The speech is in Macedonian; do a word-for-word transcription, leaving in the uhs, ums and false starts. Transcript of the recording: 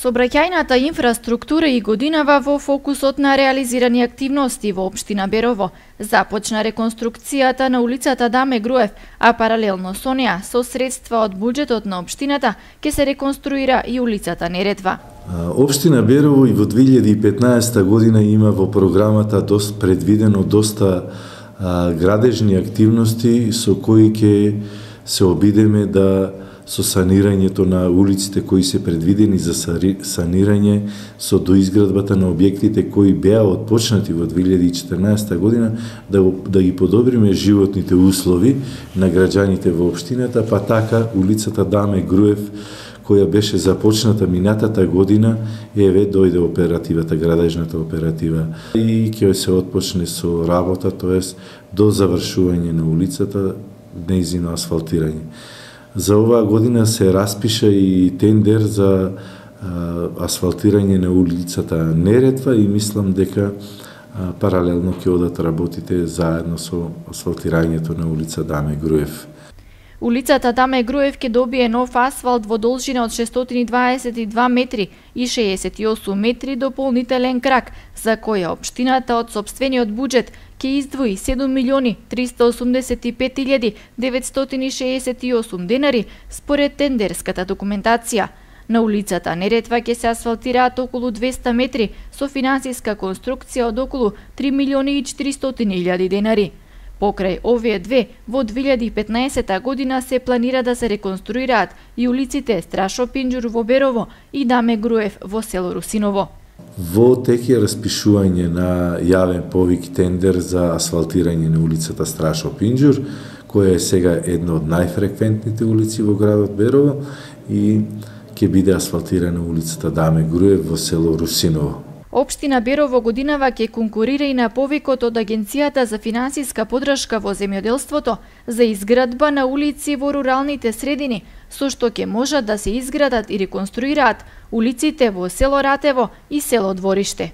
Сообраќајната инфраструктура и годинава во фокусот на реализирани активности во општина Берово. Започна реконструкцијата на улицата Даме Груев, а паралелно со неа, со средства од буџетот на општината, ќе се реконструира и улицата Неретва. Општина Берово и во две илјади и петнаесета година има во програмата доста предвидено доста а, градежни активности со кои ќе се обидеме да со санирањето на улиците кои се предвидени за санирање, со доизградбата на објектите кои беа отпочнати во две илјади и четрнаесета година, да, да ги подобриме животните услови на граѓаните во општината, па така улицата Даме Груев, која беше започната минатата година, еве дојде оперативата, градежната оператива и ќе се отпочне со работа, тоест до завршување на улицата, нејзино асфалтирање. За оваа година се распиша и тендер за а, асфалтирање на улицата Неретва и мислам дека а, паралелно ќе одат работите заедно со асфалтирањето на улица Даме Груев. Улицата Даме Груев ќе добие нов асфалт во должина од шестстотини дваесет и два метри и шеесет и осум метри дополнителен крак, за која општината од сопствениот буџет ќе издвои седум милиони триста осумдесет и пет илјади деветстотини шеесет и осум денари според тендерската документација. На улицата Неретва ќе се асфалтираат околу двеста метри со финансиска конструкција од околу три милиони и четиристотини илјади денари. Покрај овие две, во две илјади и петнаесета година се планира да се реконструираат и улиците Страшо Пинџур во Берово и Даме Груев во село Русиново. Во тек е распишување на јавен повик тендер за асфалтирање на улицата Страшо Пинџур, која е сега една од најфреквентните улици во градот Берово и ќе биде асфалтирана улицата Даме Груев во село Русиново. Општина Берово годинава ќе конкурира и на повикот од Агенцијата за финансиска поддршка во земјоделството за изградба на улици во руралните средини, со што ќе можат да се изградат и реконструираат улиците во село Ратево и село Двориште.